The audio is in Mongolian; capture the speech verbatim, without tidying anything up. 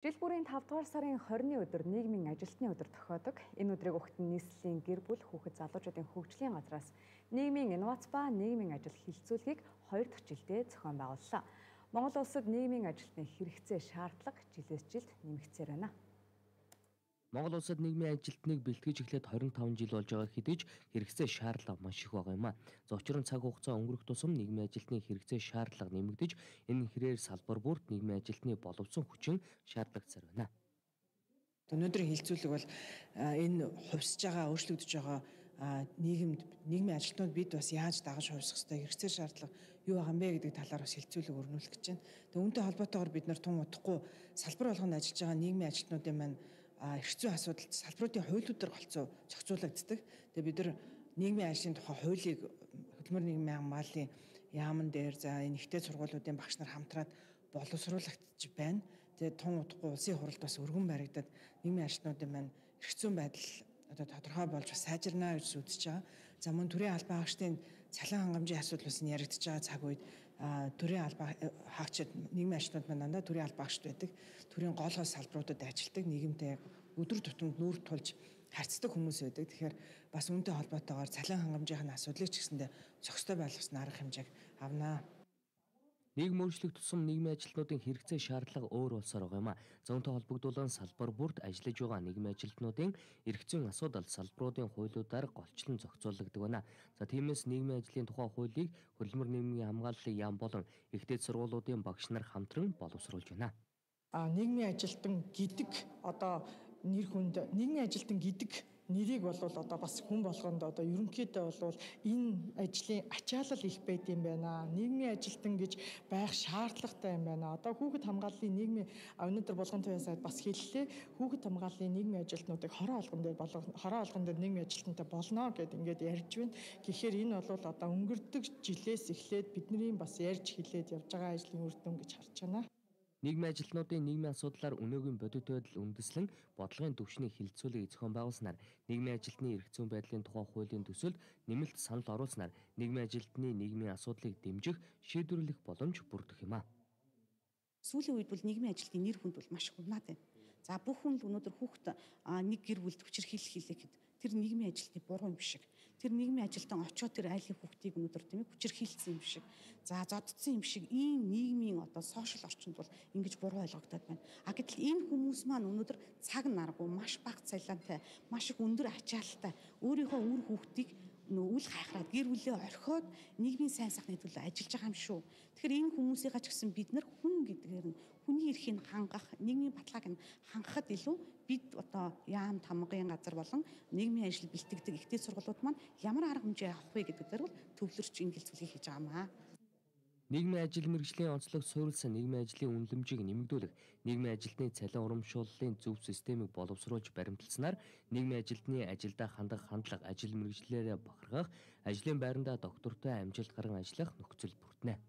Жил бүрийн тавд дугаар сарын хорины өдөр нийгмийн ажилтны өдөр тохиодог. Энэ өдрийг Угтан нийслэлийн гэр бүл хүүхэд залуучуудын хөгжлийн газраас нийгмийн инновац ба нийгмийн ажил хилцүүлгийг хоёр дахь жилдээ зохион байгууллаа. Монгол улсад нийгмийн ажилтны хэрэгцээ шаардлага жилээс жилд нэмэгдсээр байна. Монгол улсад нийгмийн ажилтныг бэлтгэж эхлээд хорин таван жил болж байгаа хэдий ч хэрэгцээ шаардлага маш их байгаа юм а. За учир нь цаг хугацаа өнгөрөх тусам нийгмийн ажилтны хэрэгцээ шаардлага нэмэгдэж, энэ хэрээр салбар бүрт нийгмийн ажилтны боловсон хүчин шаардлагцсаар байна. Өнөөдрийн хилцүүлэг бол энэ хувьсж байгаа, өөрчлөгдөж байгаа нийгэмд нийгмийн ажилтнууд бид бас яаж дагаж хувьсах ёстой, хэрэгцээ шаардлага юу байгаа юм бэ гэдэг талаар бас хилцүүлэг өрнүүлэх гэж байна. Тэгээ үүнтэй холбоотойгоор бид нар тун удахгүй салбар болгонд ажиллаж байгаа нийгмийн ажилтнуудын маань эрх зүйн асуудалд салбаруудын хуулиудаар голцоо зохицуулагддаг. Тэгээ бид нар нийгмийн ажлын тухай хуулийг хөдөлмөр нийгмийн хамгааллын яамн дээр за энэ ихтэй сургуулиудын багш нар хамтраад боловсруулагдж байна. Тэгээ тун удахгүй улсын хуралд бас өргөн баригдаад нийгмийн ажилтнуудын маань эрх зүйн байдал одоо тодорхой болж бас сайжирнаа гэж үзэж байгаа. За мөн төрийн албан хаагчдын цалин хангамжийн асуудал бас яригдж байгаа цаг үед төрийн албан хаагчид нийгмийн ажилтнууд маань дандаа төрийн албан хаагчд байдаг. Төрийн гол хол салбаруудад ажилладаг, нийгэмтэй өдөр тутамд нүүр тулж харьцдаг хүмүүс байдаг. Тэгэхээр бас үүнтэй холбоотойгоор цалин хангамжийн асуудлыг ч гэсэндээ зохистой байлгасан арга хэмжээг авнаа. Нийгэм өөрчлөх тусам нийгмийн ажилтнуудын хэрэгцээ шаардлага өөр болсоор байгаа юм а. За үүнтэй холбогдуулан салбар бүрт ажиллаж байгаа нийгмийн ажилтнуудын эрх зүйн асуудал салбаруудын хуулиудаар голчлон зохицуулагддаг байна. За тиймээс нийгмийн ажлын тухай хуулийг хөдөлмөр нийгмийн хамгааллын яам болон ихтэй сургуулиудын багш нар хамтран боловсруулж байна. А нийгмийн ажилтан гэдэг одоо нэр хүнд нийгмийн ажилтан гэдэг нэрийг бол одоо бас хүн болгонд одоо ерөнхийдөө бол энэ ажлын ачаалал их байд юм байна. Нийгмийн ажилтан гэж байх шаардлагатай юм байна. Одоо хүүхэд хамгааллын нийгмийн өнөөдөр болгон туяа сайд бас хэллээ. Хүүхэд хамгааллын нийгмийн ажилтнуудыг хороо олгон дээр болгон хороо олгон дээр нийгмийн ажилтнтай болно гэд ингээд ярьж байна. Тэгэхээр энэ бол одоо өнгөрдөг жилээс эхлээд бидний бас ярьж хэлээд явж байгаа ажлын үр дүн гэж харж байна. Нийгмийн ажилтнуудын нийгмийн асуудлаар өнөөгийн бодит байдал үндэслэн бодлогын түвшний хилцүүлгийг зохион байгуулснаар нийгмийн ажилтны эрх зүйн байдлын тухай хуулийн төсөлд нэмэлт санал оруулснаар нийгмийн ажилтны нийгмийн асуудлыг дэмжих, шийдвэрлэх боломж бүрдэх юм а. Сүүлийн үед бол нийгмийн ажилтны нэр хүнд бол маш хурмаад байна. За бүх хүн л өнөөдөр хүүхэд нэг гэр бүлд хүчирхийлэл хийлэхэд тэр нийгмийн ажилтны буруу юм шиг. Тэр нийгмийн ажилтан очоод тэр айлын хүүхдийг өнөөдөр тийм ээ хүчирхийлсэн юм шиг. За зоддсон юм шиг ийм нийгмийн одоо сошиал орчинд бол ингэж буруу ойлгогдоод байна. А гэтэл энэ хүмүүс маань өнөөдөр цаг наргүй маш бага цалинтай, маш их өндөр ачаалттай өөрийнхөө үр хүүхдийг үл хайхраад гэр бүлээ орхиод нийгмийн сайн сайхны төлөө ажиллаж байгаа юм шүү. Тэгэхээр энэ хүмүүсийн ч гэсэн бид нар хүн гэдгээр нь хүний эрхийг хангах, нийгмийн баталгааг нь хангахад илүү бид одоо яам тамгын газар болон нийгмийн ажил бэлтгэдэг ихтэй сургуулиуд маань ямар арга хэмжээ авах вэ гэдэг дээр бол төвлөрч энэ хилцүүлгийг хийж байгаа юм аа. Нийгмийн ажил мэргэжлийн онцлог суурилсан нийгмийн ажлын үнэлэмжийг нэмэгдүүлэх, нийгмийн ажилтны цалин урамшууллын зөв системийг боловсруулж баримталснаар нийгмийн ажилтны ажилдаа хандах хандлага, ажил мэргэжлээрээ бахархах, ажлын байрандаа доктортой амжилт гаран ажиллах нөхцөл бүрдэнэ.